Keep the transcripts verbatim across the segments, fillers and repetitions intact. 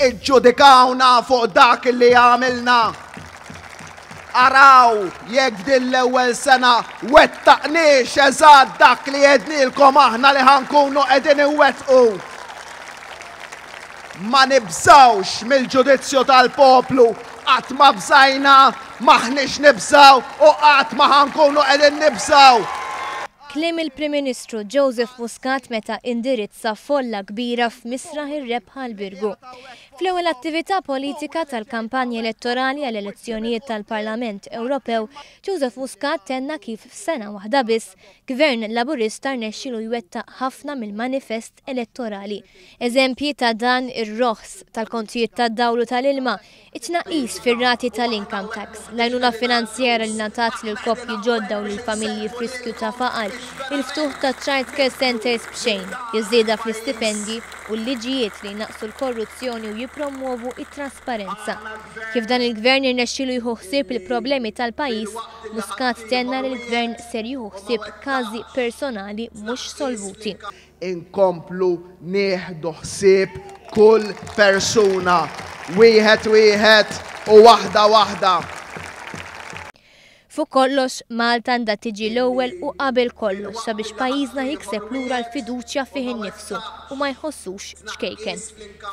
Iġġudikawna fuq dak li għamilna. Araw jekk din l-ewwel sena wettaqniex eżatt dak li għednielkom aħna li ħa nkunu qegħdin inwettqu. Ma nibżawx mill-ġudizzju tal-poplu, qatt ma bżajna, m'aħniex nibżaw u qatt ma ħa nkunu qegħdin nibżaw. Kliem il-Prim Ministru Joseph Muscat meta indirizza folla kbira f'Misraħ ir-Rebħa l-Birgu. Fl-ewwel attività politika tal-kampanja elettorali għall elezzjonijiet tal-Parlament Ewropew, Joseph Muscat tenna kif f'sena waħda biss Gvern Laburista rnexxielu jwettaq ħafna mill-manifest elettorali. Eżempji ta' dan ir-roħs tal-kontijiet tad-dawl u tal-ilma, it-tnaqqis fir-rati tal-income tax, l-għajnuna finanzjera li ngħatat lil koppji ġodda u lil familji f'riskju ta' faqar, il-ftuħ ta' child care centers b'xejn, iż-żieda fl-istipendi u l-liġijiet li jnaqqsu l-korruzzjoni u jipromuovu it-trasparenza. Kif dan il-gvern irnexxielu jieħu ħsieb il-problemi tal-pajjiż, Muscat tenna li l-gvern ser jieħu ħsieb każi personali mhux solvuti. Inkomplu nieħdu ħsieb kull persuna, wieħed wieħed u waħda waħda. Fuq kollox, Malta għandha tiġi l-ewwel u qabel kollox sabiex pajjiżna jikseb lura l-fiduċja fih innifsu u ma jħossux ċkejken.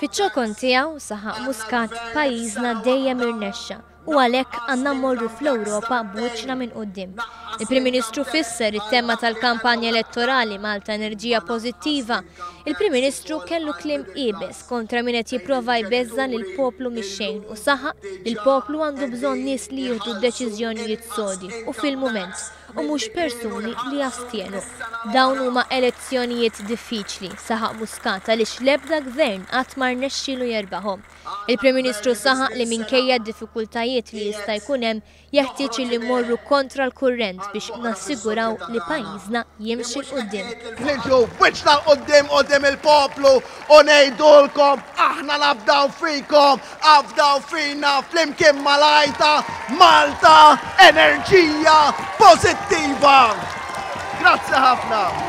Fiċ-ċokon tiegħu saħaq Muscat, pajjiżna dejjem irnexxa u għalhekk għandna mmorru fl-Ewropa b'wiċċna minn quddiem. Il-Prim Ministru fisser it-tema tal-kampanja elettorali Malta Enerġija Pożittiva. Il-Prim Ministru kellu kliem iebes kontra min qed jipprova jbeżża lill-poplu mix-xejn u saħaq li l-poplu għandu bżonn nies li jieħdu deċiżjonijiet sodi u fil-mument u mhux persuni li jastjenu. Dawn huma elezzjonijiet diffiċli, saħaq Muscat, għaliex l-ebda gvern qatt ma rnexxielu jerbaħhom. Il-Prim Ministru saħaq li minkejja d-diffikultajiet li jista' jkun hemm, jeħtieġ li mmorru kontra l-kurrent biex nassiguraw li pajjiżna jimxi 'l quddiem. Niġu wiċċna 'l quddiem quddiem il-poplu u ngħidulkom aħna nafdaw fikom, afdaw fina flimkien mal-għajta Malta Enerġija Pożittiva. Grazzi ħafna.